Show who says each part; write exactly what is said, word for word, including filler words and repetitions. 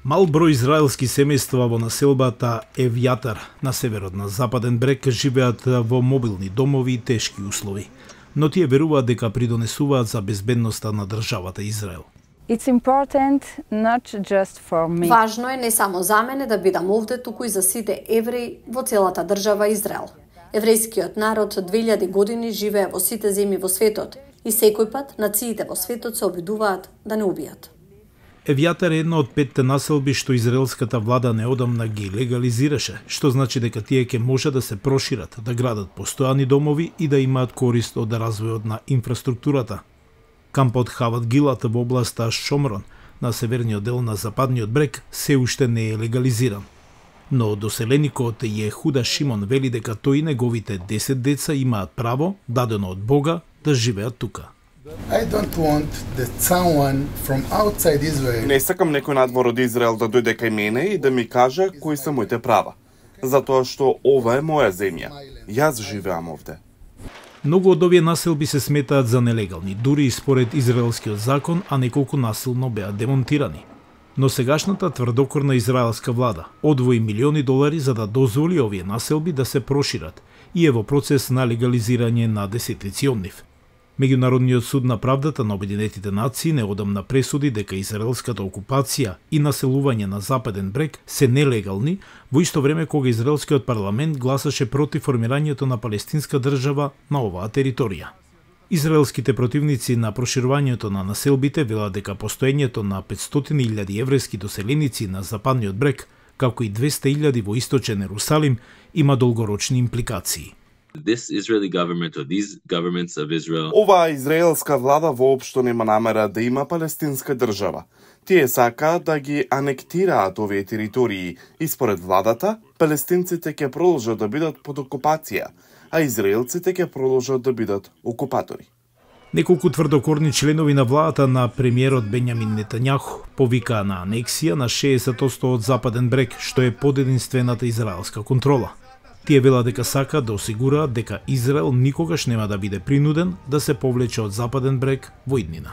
Speaker 1: Мал број израелски семејства во населбата Евјатар на северот на Западен брег живеат во мобилни домови и тешки услови, но тие веруваат дека придонесуваат за безбедноста на државата Израел.
Speaker 2: It's important not just for me.
Speaker 3: Важно е не само за мене да бидам овде, туку и за сите евреи во целата држава Израел. Еврејскиот народ две илјади години живее во сите земји во светот и секој пат нациите во светот се обидуваат да не убијат.
Speaker 1: Евјатар е една од петте населби што израелската влада неодамна ги легализираше, што значи дека тие ќе може да се прошират, да градат постојани домови и да имаат корист од развојот на инфраструктурата. Кампот Хават Гилат во областа Шомрон, на северниот дел на Западниот брег, се уште не е легализиран. Но доселеникот Јехуда Шимон вели дека тој и неговите десет деца имаат право, дадено од Бога, да живеат тука.
Speaker 4: I don't want that someone from outside Israel.
Speaker 5: Не сакам некој надвор од Израел да дојде кај мене и да ми каже кои се моите права, затоа што ова е моја земја. Јас живеам овде.
Speaker 1: Многу од овие населби се сметаат за нелегални, дури и според израелскиот закон, а неколку насилно беа демонтирани. Но сегашната тврдокорна израелска влада одвои милиони долари за да дозволи овие населби да се прошират и е во процес на легализирање на десетици од нив. Меѓународниот суд на правдата на Обединетите нации неодамна пресуди дека израелската окупација и населување на Западен брег се нелегални, во исто време кога израелскиот парламент гласаше против формирањето на палестинска држава на оваа територија. Израелските противници на проширувањето на населбите велат дека постоењето на петстотини илјади еврејски доселеници на Западниот брег, како и двесте илјади во источен Ерусалим, има долгорочни импликации.
Speaker 6: This Israeli government or these governments of Israel.
Speaker 5: Оваа израелска влада воопшто нема намера да има палестинска држава. Тие сакаат да ги анектираат овие територии и според владата, палестинците ќе продолжат да бидат под окупација, а израелците ќе продолжат да бидат окупатори.
Speaker 1: Неколку тврдокорни членови на владата на премиерот Бенјамин Нетањаху повикаа на анексија на шеесет одсто од Западен брег, што е под единствената израелска контрола. Тие велат дека сакаат да осигураат дека Израел никогаш нема да биде принуден да се повлече од Западен брег во иднина.